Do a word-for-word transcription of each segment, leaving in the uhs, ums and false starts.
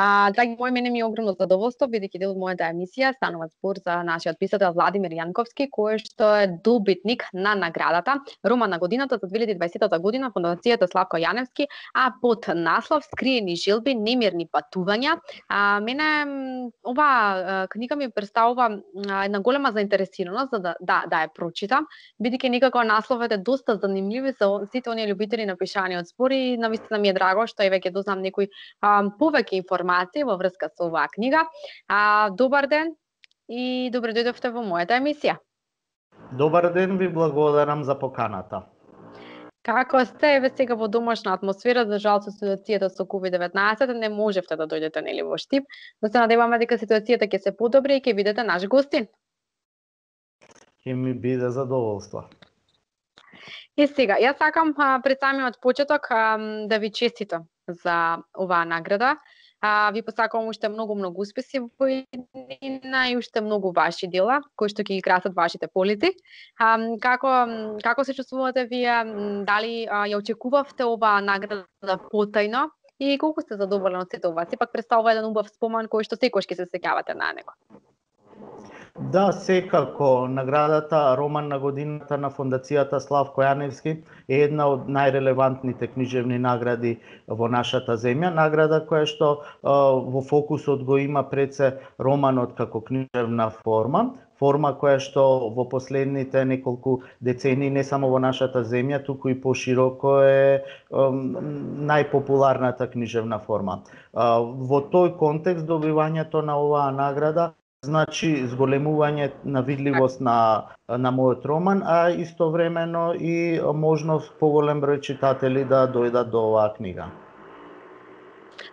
А, драги мои, мене ми е огромно задоволство, бидејќи дел од мојата емисија станува збор за нашиот писател Владимир Јанковски, кој што е добитник на наградата Роман на годината за две илјади и дваесета година Фондацијата Славко Јаневски, а под наслов Скриени желби, немирни патувања. А, мене оваа книга ми представува една голема заинтересираност за да да, да ја прочитам, бидејќи некако насловот е доста занимљив за сите оние љубители на пишаниот збор и навистина ми е драго што еве ќе дознам некои а, повеќе информации во врска со оваа книга. А, добар ден и добре дојдовте во мојата емисија. Добар ден, ви благодарам за поканата. Како сте? Еве сега во домашна атмосфера, за жал со ситуацијата со ковид деветнаесет не можевте да дојдете нели во Штип, но се надеваме дека ситуацијата ќе се подобри и ќе бидете наш гостин. Ќе ми биде задоволство. И сега, јас сакам а, пред самиот почеток а, да ви честитам за оваа награда. А, ви посакувам уште многу многу успеси во иднина и уште многу ваши дела кои што ќе ги красат вашите полици. А, како како се чувствувате вие? Дали а, ја очекувавте оваа награда потајно и колку сте задоволни од сите ова? Сепак представува еден убав спомен кој што секогаш ќе се сеќавате на него. Да, секако. Наградата Роман на годината на Фондацијата Славко Јаневски е една од најрелевантните книжевни награди во нашата земја. Награда која што а, во фокусот го има пред се романот како книжевна форма. Форма која што во последните неколку децении не само во нашата земја, туку и пошироко е најпопуларната книжевна форма. А, во тој контекст добивањето на оваа награда значи зголемување на видливост на на мојот роман, а истовремено и можност поголем број читатели да дојдат до оваа книга.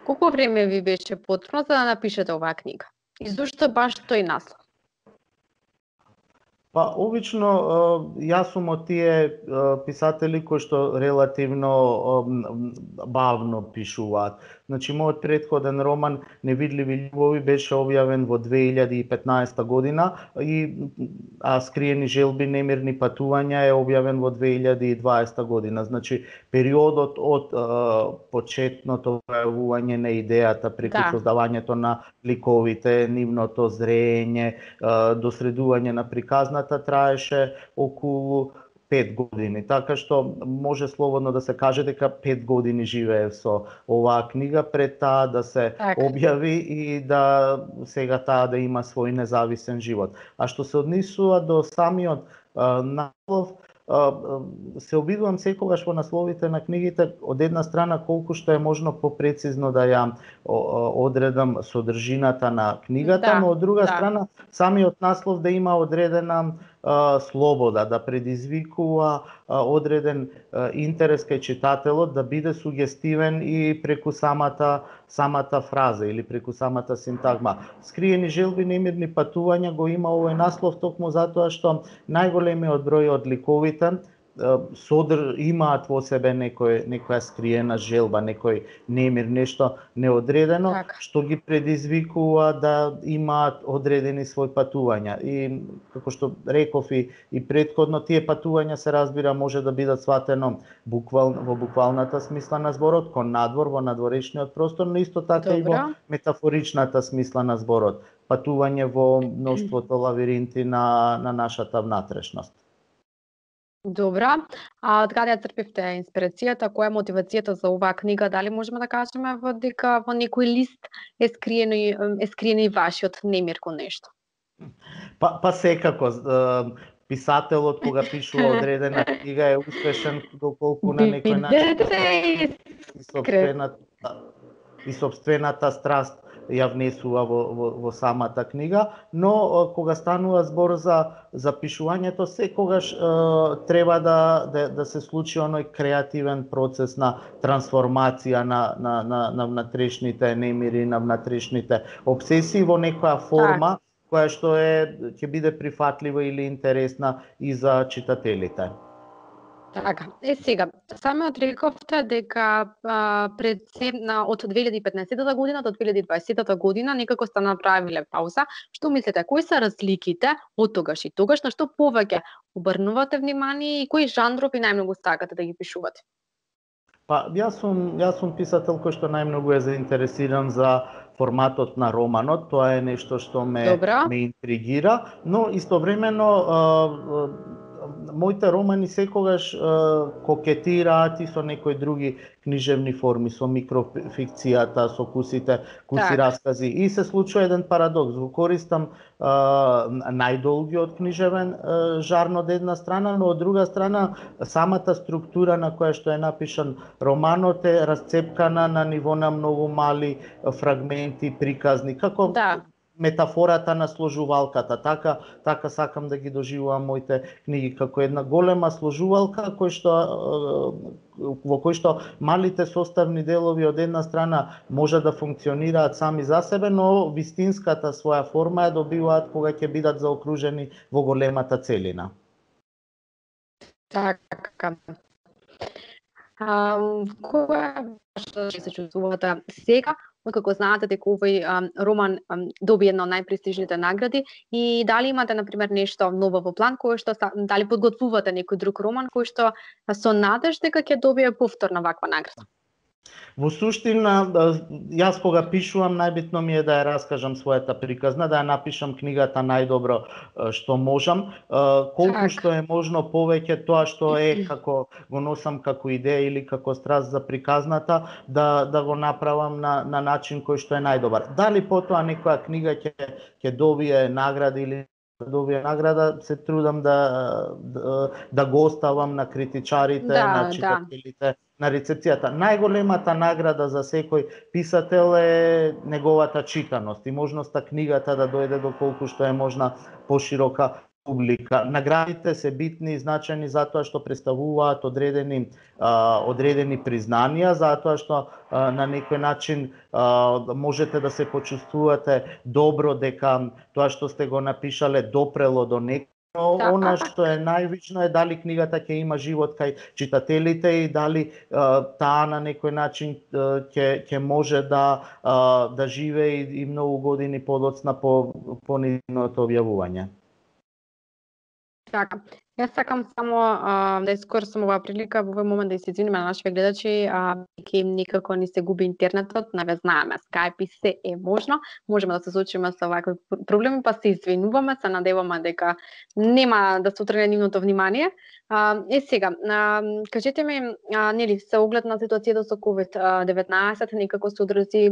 Колку време ви беше потребно за да напишете оваа книга? И зошто баш тој наслов? Па, обично, јас сум од тие писатели кои што релативно бавно пишуваат. Значи, мојот претходен роман Невидливи љубови беше објавен во две илјади и петнаесета година, и а Скриени желби, немирни патувања е објавен во две илјади и дваесета година. Значи, периодот од е, почетното појавување на идејата преку да. создавањето на ликовите, нивното зрење, е, до средување на приказната траеше околу пет години, така што може слободно да се каже дека пет години живеев со оваа книга пред таа да се так. објави и да сега таа да има свој независен живот. А што се однесува до самиот а, наслов, се обидувам секогаш во насловите на книгите од една страна колку што е можно попрецизно да ја одредам содржината на книгата, да, но од друга да. страна самиот наслов да има одредена а, слобода, да предизвикува а, одреден а, интерес кај читателот, да биде сугестивен и преку самата самата фраза или преку самата синтагма. Скриени желби, немирни патувања го има овој наслов токму затоа што најголемиот број од ликовите содр имаат во себе некој некоја скриена желба, некој немир, нешто неодредено, так. што ги предизвикува да имаат одредени своји патувања. И како што реков и, и претходно, тие патувања се разбира може да бидат сватено буквал, во буквалната смисла на зборот, кон надвор, во надворешниот простор, но исто така Добра. и во метафоричната смисла на зборот. Патување во мноштвото лавиринти на, на нашата внатрешност. Добра. А од каде ја црпивте инспирацијата? Која е мотивацијата за оваа книга? Дали можеме да кажеме во дека во некој лист е скриено е скриено и вашиот немир кон нешто? Па па секако писателот кога пишува одредена книга е успешен доколку на некој начин и собствената и собствената страст ја внесува во, во, во самата книга, но кога станува збор за за пишувањето, секогаш е, треба да, да да се случи оној креативен процес на трансформација на на на, на внатрешните немири, на внатрешните обсесии во некоја форма так. која што е ќе биде прифатлива или интересна и за читателите. Така, е сега, самиот рековте дека а, пред на, од две илјади и петнаесета година до две илјади и дваесета година некако сте направиле пауза. Што мислите, кои се разликите од тогаш и тогаш, на што повеќе обрнувате внимание и кои жанрови најмногу сакате да ги пишувате? Па, јас сум, јас сум писател кој што најмногу е заинтересиран за форматот на романот, тоа е нешто што ме Добро. ме интригира, но истовремено моите романи секогаш е, кокетираат и со некои други книжевни форми, со микрофикцијата, со кусите, куси Так. раскази. И се случува еден парадокс. Го користам е, најдолгиот книжевен е, жарн од една страна, но од друга страна самата структура на која што е напишан романот е расцепкана на ниво на многу мали фрагменти, приказни, како Да. метафората на сложувалката. Така така сакам да ги доживувам моите книги како една голема сложувалка кој што во кој што малите составни делови од една страна може да функционираат сами за себе, но вистинската своја форма ја добиваат кога ќе бидат заокружени во големата целина. Така. А, кога што се чувствувате сега, како знаете дека овој роман доби една од најпрестижните награди и дали имате на пример нешто ново во план кое што дали подготвувате некој друг роман кој што со надеж дека ќе добие повторна ваква награда? Во суштина, јас кога пишувам, најбитно ми е да ја раскажам својата приказна, да ја напишам книгата најдобро што можам, колку так. што е можно повеќе тоа што е како го носам како идеја или како страст за приказната, да да го направам на на начин кој што е најдобар. Дали потоа некоја книга ќе ќе добие награда или добие награда, се трудам да да, да го оставам на критичарите, да, на читателите, да. на рецепцијата. Најголемата награда за секој писател е неговата читаност и можноста книгата да дојде до колку што е можна поширока публика. Наградите се битни и значајни затоа што представуваат одредени а, одредени признанија, затоа што а, на некој начин а, можете да се почувствувате добро дека тоа што сте го напишале допрело до некој. Но она што е најважно е дали книгата ќе има живот кај читателите и дали а, таа на некој начин ќе ќе може да а, да живее и, и многу години подоцна по по нивното објавување. Така. Јас сакам само а, да искористам оваа прилика во овој момент да се извиниме на нашите гледачи, а ќе им никако не се губи интернетот, наве знаеме, Skype и се е можно, можеме да се соочиме со вакви проблеми, па се извинуваме, се надеваме дека нема да се отргне нивното внимание. А, е сега, а, кажете ми, а, нели, се оглед на ситуацијата со ковид деветнаесет, некако се одрази,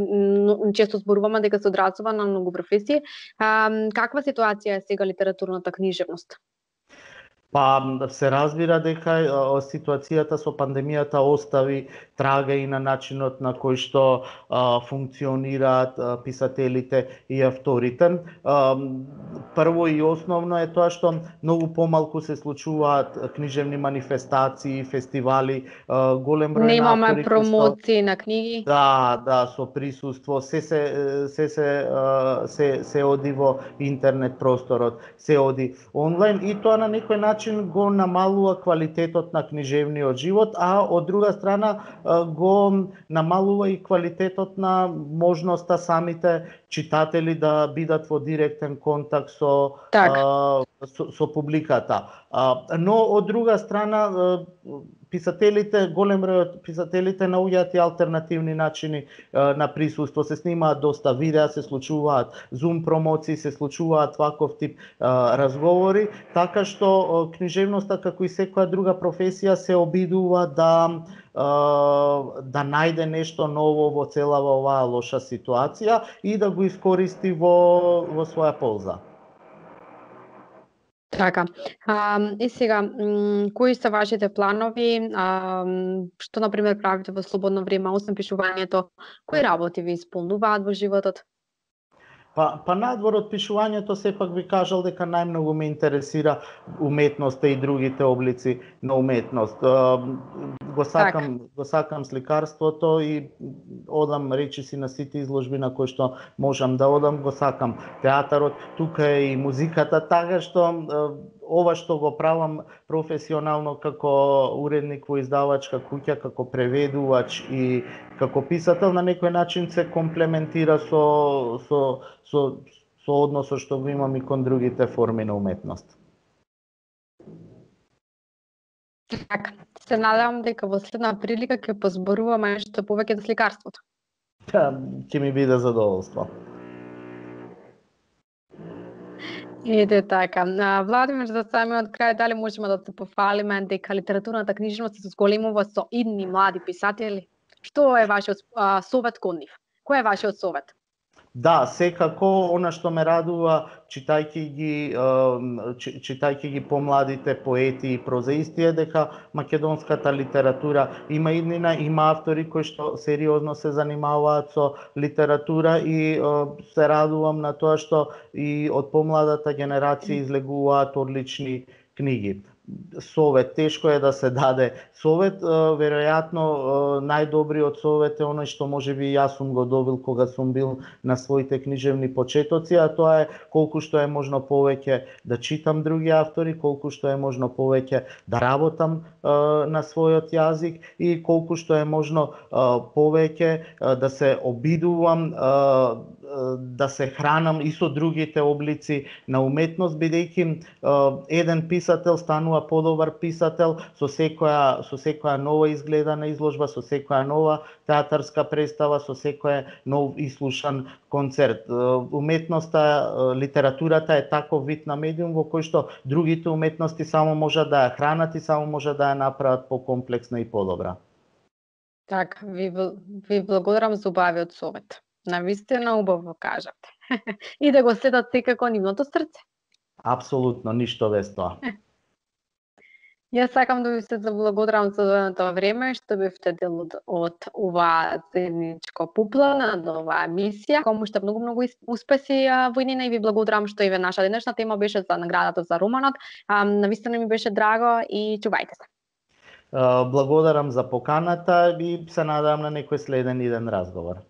често зборуваме дека се одразува на многу професии. А, каква ситуација е сега литературната книжевност? Па се разбира дека ситуацијата со пандемијата остави трага и на начинот на кој што а, функционираат а, писателите и авторите. А, прво и основно е тоа што многу помалку се случуваат книжевни манифестации, фестивали, а, голем број на автори. Немаме промоции на книги. Да, да, со присуство, се се се се се се оди во интернет просторот, се оди онлайн и тоа на некој начин го намалува квалитетот на книжевниот живот, а од друга страна го намалува и квалитетот на можноста самите читатели да бидат во директен контакт со а, со, со публиката. А, но од друга страна писателите, голем број од писателите наоѓаат и алтернативни начини а, на присуство. Се снимаат доста видеа, се случуваат Zoom промоции, се случуваат ваков тип а, разговори, така што а, книжевноста како и секоја друга професија се обидува да да најде нешто ново во целава оваа лоша ситуација и да го искористи во во своја полза. Така. А, и сега, кои се вашите планови? А, што, например, правите во слободно време, освен пишувањето? Кои работи ви исполнуваат во животот? Па, па надвор од пишувањето, сепак би кажал дека најмногу ме интересира уметноста и другите облици на уметност. Го сакам, так. го сакам сликарството и одам речиси на сите изложби на кои што можам да одам, го сакам театарот, тука е и музиката, така што ова што го правам професионално како уредник во издавачка куќа, како преведувач и како писател, на некој начин се комплементира со со со со односот што го имам и кон другите форми на уметност. Така, се надевам дека во следна прилика ќе позборуваме нешто повеќе за сликарството. ќе ми биде задоволство. Ете така. Владимир, за самиот крај, дали можеме да се пофалиме дека литературната книжевност се зголемува со идни млади писатели? Што е вашиот совет кон нив? Кој е вашиот совет? Да, секако, она што ме радува, читајќи ги, читајќи ги помладите поети и прозаисти, е дека македонската литература има иднина, има автори кои што сериозно се занимаваат со литература и се радувам на тоа што и од помладата генерација излегуваат одлични книги. Совет, тешко е да се даде совет, веројатно најдобриот совет е оној што можеби јас сум го добил кога сум бил на своите книжевни почетоци, а тоа е колку што е можно повеќе да читам други автори, колку што е можно повеќе да работам на својот јазик и колку што е можно повеќе да се обидувам, да се хранам и со другите облици на уметност, бидејќи еден писател станува подобар писател со секоја со секоја нова изгледана изложба, со секоја нова театарска представа, со секој нов ислушан концерт. Уметноста, литературата е таков вид на медиум во кој што другите уметности само можат да ја хранат и само можат да ја направат покомплексна и подобра. Така, ви, ви благодарам за убавиот совет. Навистина убаво кажате. И да го следат секако нивното срце. Апсолутно, ништо без тоа. Јас сакам да ви се заблагодарам за одвоеното време што бевте дел од, од оваа заедничко пуплана, од оваа емисија. Кому што многу многу успеси во иднина и ви благодарам што еве наша денешна тема беше за наградата за романот. Навистина ми беше драго и чувајте се. Благодарам за поканата и се надевам на некој следен иден разговор.